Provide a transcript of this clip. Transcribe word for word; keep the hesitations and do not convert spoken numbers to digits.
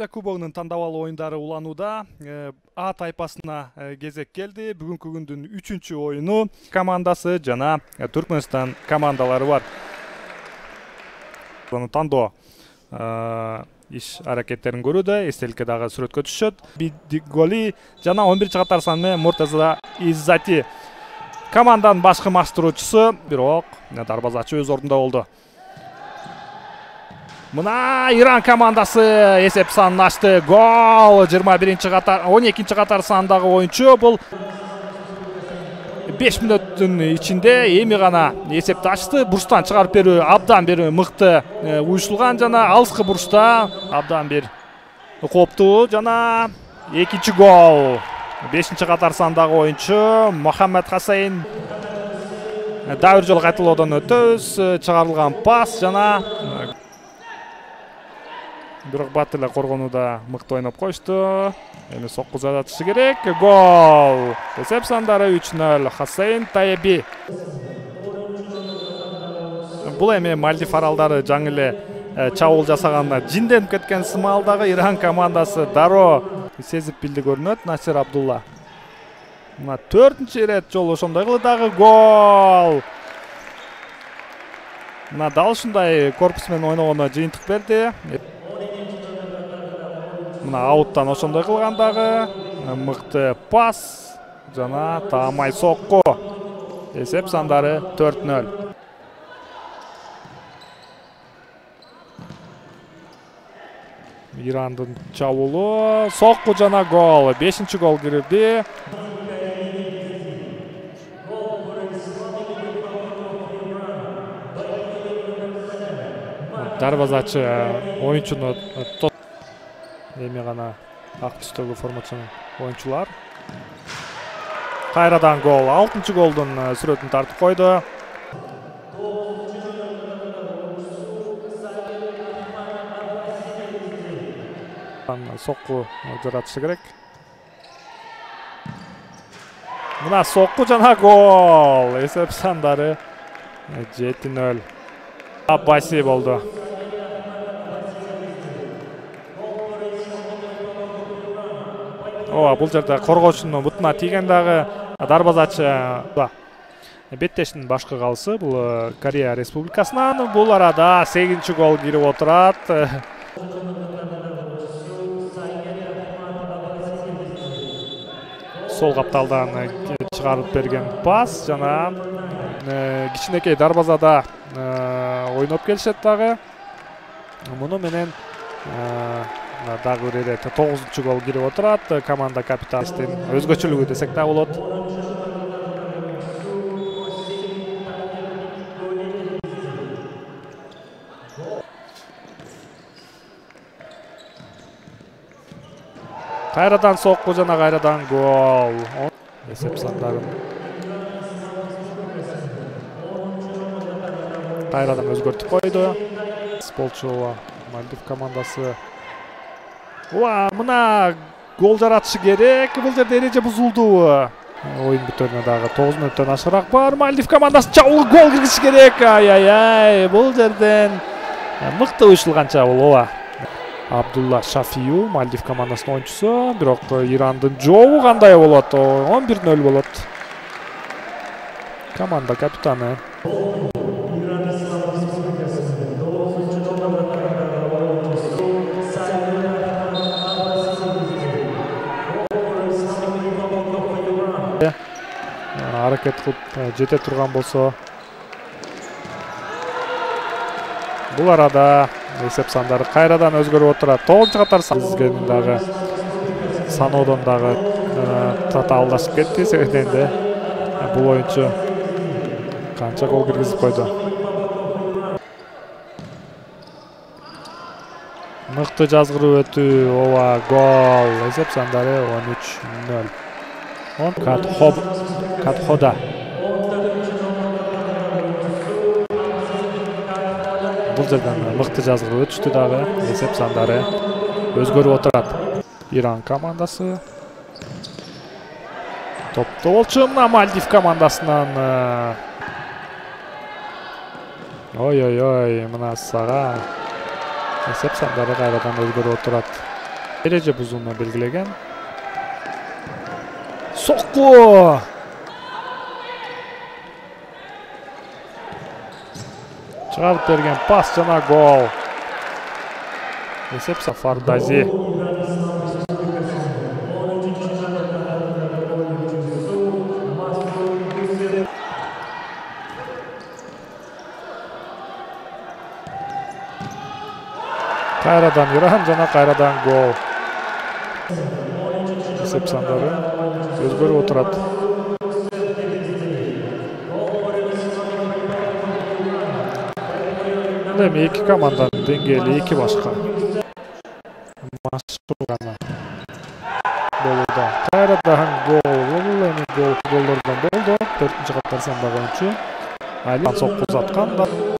Азия кубогунун тандабал оюндары уланууда. А тайпасына кезек келди. Бүгүнкү күндүн үчүнчү оюну командасы жана Түркмөнстан командалары бар. Буну тандоо иш аракеттерин көрүүдө, эстеликке дагы сүрөткө түшөт. Бидиголи жана он биринчи катар саны менен Муртаза Иззати команданын башкы маштыруучусу, бирок дарбазачы өз ордунда болду. Мына Иран командасы эсеп санын ачты. Гол! жыйырма биринчи катар, он экинчи катар сандагы оюнчу. Бул беш мүнөттүн ичинде эми гана эсепти ачты. Бурчтан чыгарып берүү абдан бир мыкты уюшулган жана алыскы бурчта абдан бир кооптуу жана экинчи гол. бешинчи катар сандагы оюнчу Мохаммед Хасейн. Дагы бир жолу кайталоодон өтөбүз. Чыгарылган пас жана бирок бат эле коргонууда мыкты ойноп коюшту. Эми сокку жатышы керек. Гол! Эсеп сандары үч нөл. Хасейн Таеби. Бул эми Мальдив аралдары жаңы эле чабуул жасаганда жинденип кеткен сымалдагы Иран командасы дароо сезип билди көрүнөт. Насир Абдулла. Мына төртүнчү ирет жолу ошондой кылды дагы гол. Мына дал ушундай корпус менен ойногондо жыйынтык берди. Мына ауттан ошондой кылган дагы мыкты пас жана таамай сокку. Эсеп сандары төрт нөл. Ирандын чабуулу, сокку жана гол. бешинчи гол кирди. Дарбазачы оюнчуну эми гана ак түстөгү формачанын оюнчулар. Кайрадан гол. алтынчы голдун сүрөтүн тартып койду. Сокку жаратышы керек. Мына сокку жана гол. Эсеп сандары жети нөл. Аббаси болду. Ооба, бул жерде коргоочунун бутуна тийген дагы дарбазачы. Беттештин башкы калысы бул Корея Республикасынан. Бул арада сегизинчи гол кирип отурат. Сол капталдан чыгарып берген пас жана кичинекей дарбазада ойноп келишет дагы. Муну менен дагы бир ирет тогузунчу гол кирип отурат. Команда капитаныстын өзгөчөлүгү десек да болот. Кайрадан сокку жана кайрадан гол. Эсеп сандарын кайрадан өзгөртүп койду. Болчу Мальдив командасы. Ооба, мына гол жаратышы керек. Бул жерде эреже бузулду. Оюн бүтөрүнө дагы тогуз мүнөттөн ашыраак бар. Мальдив командасы чабуул гол киргизиши керек. Ай-ай-ай, бул жерден мыкты уюшулган чабуул. Ооба. Абдулла Шафию, Мальдив командасынын оюнчусу, бирок Ирандын жообу кандай болот? он бир нөл болот. Команда капитаны. Аракет кылып жете турган болсо. Бул арада эсеп сандары кайрадан өзгөрүп отурат. тогузунчу катар сандагы дагы саноодон дагы татаалдашып кетти. Себебинде бул оюнчу канча гол киргизип койду. Мыкты жазгыруу өтүү. Ооба, гол. Эсеп сандары он үч нөл. Он Катхоб Катхода. Бул жерден мыкты жазгырып өтүштү дагы. Эсеп сандары өзгөрүп отурат. Иран командасы. Топто болчу мына Мальдив командасынан. Ой-ой-ой, мына сага эсеп сандары кайрадан өзгөрүп отурат. эреже бузууну белгилеген. Сокку! Чыгарып берген пас жана гол. Эсеп Сафардази. Кайрадан Иран жана кайрадан гол. Эсеп сандары өзгөрүп отурат. Эми эки команданын деңгээли эки башка. Машык гана болууда. Кайрадан гол. Бул эми гол голдордон болду. төртүнчү катар сандагы oyuncu. Али сокку узаткан.